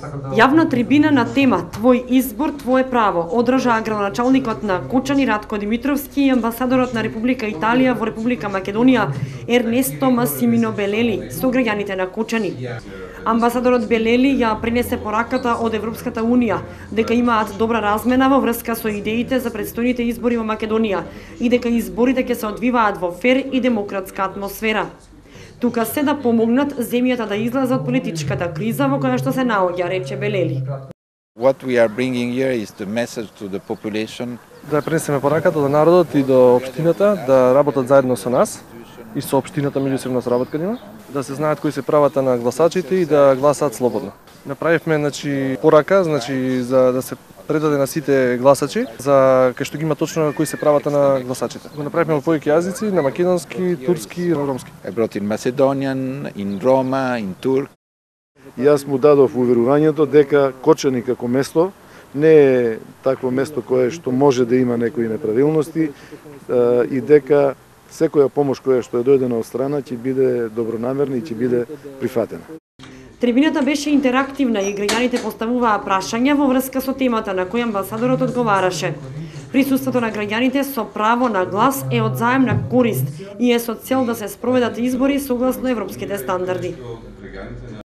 Јавна трибина на тема Твој избор, твое право одржа градоначалникот на Кочани Ратко Димитровски и амбасадорот на Република Италија во Република Македонија Ернесто Масимино Белели со граѓаните на Кочани. Амбасадорот Белели ја пренесе пораката од Европската Унија дека имаат добра размена во врска со идеите за предстојните избори во Македонија и дека изборите ќе се одвиваат во фер и демократска атмосфера. Тука се да помогнат земјата да излезе од политичката криза во која што се наоѓа, рече Белели. What we are bringing here is the message to the population. Да пренесеме пораката до народот и до општината да работат заедно со нас и со општината меѓусебна соработка има, да се знаат кои се правата на гласачите и да гласаат слободно. Направивме порака за да се предаде на сите гласачи за кај што ги има точно кои се правата на гласачите. Го направивме во повеќе јазици, на македонски, турски и ромски. I brought in Macedonian, in Roma, in Turk. Јас му дадов уверувањето дека Кочани како место не е такво место кое што може да има некои неправилности и дека секоја помош која што е дојдена од страна ќе биде добронамерна и ќе биде прифатена. Трибината беше интерактивна и граѓаните поставуваа прашања во врска со темата на која амбасадорот одговараше. Присуството на граѓаните со право на глас е од заемна корист и е со цел да се спроведат избори согласно европските стандарди.